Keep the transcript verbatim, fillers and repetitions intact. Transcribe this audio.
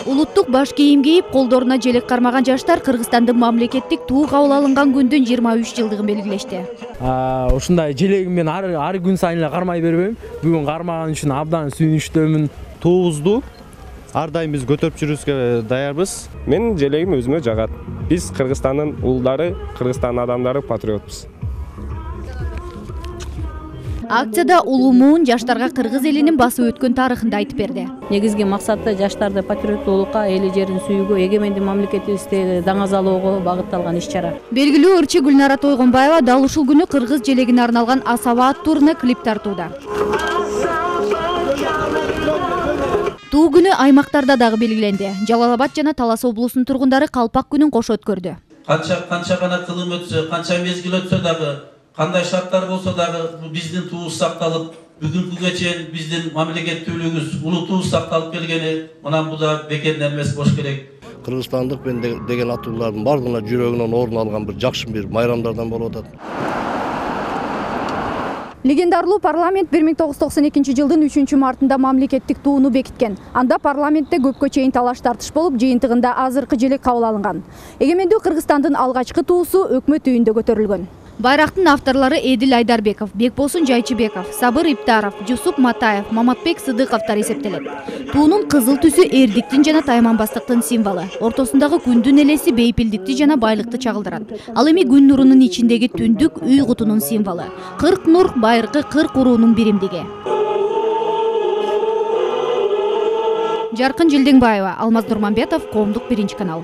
Улуттук баш кийим кийип, колдоруна желек кармаган жаштар Кыргызстандын мамлекеттик туу кабыл алынган күндүн жыйырма үч жылдыгын белгилешти. Ушундай желегиммен ар ар күн сайын эле кармай бербейм. Бүгүн кармаган үчүн абдан сүйүнүчтөмүн. Туубузду ар дайым биз көтөрүп жүрүүбүзгө даярбыз. Мен желегим өзүмө жагат. Биз Кыргызстандын улдары, Кыргызстандын адамдары патриотпуз. Акцияда улуумун жаштарга кыргыз элинин басып өткөн тарыхын айтып берди. Негизги максаты жаштарды патриоттуулукка, эли жерин сүйүүгө, эгемендик мамлекетибизди даңазалоого багытталган иш-чара. Белгилүү ырчы Гүлнара Тойгонбаева дал ушул күнү кыргыз желегине арналган Асаба аттууруна клип тартууда. Туу күнү аймактарда дагы белгиленди. Жалал Абад жана Талас облусунун тургундары Калпак күнүн кошо өткөрдү. Канча канча гана кылым өтсө, канча мезгил өтсө дагы, кандай шарттар болсо дагы биздин туубуз сакталып, бүгүнкүгө чейин биздин мамлекеттүүлүгүбүз, улутубуз сакталып келгени мына буда бекерден эмес болуш керек. Кыргызстандык мен деген аттуулардын бардыгына жүрөгүнөн орун алган бир жакшы бир майрамдардан болуп атат. Легендарлуу парламент бир миң тогуз жүз токсон экинчи жылдын үчүнчү мартында мамлекеттик тууну бекиткен. Анда парламентте көпкө чейин талаш тартыш болуп, жыйынтыгында азыркы желек кабыл алынган. Эгемендүү Кыргызстандын алгачкы туусу өкмөт үйүндө көтөрүлгөн. Байрактын авторлору Эдил Айдарбеков, Бекбосун Жайчыбеков, Сабыр Иптаров, Жусуп Матаев, Маматбек Сыдыковдор эсептелет. Туунун кызыл түсү эрдиктин жана тайманбастыктын символу. Ортосундагы күндүн элеси бейпилдикти жана байлыкты чагылдырат. Ал эми күн нурунун ичиндеги түндүк үй кутунун символу. Кырк нур байыркы кырк уруунун биримдиги. Жаркын Жылдеңбаева, Алмаз Нурманбетов, Коомдук биринчи канал.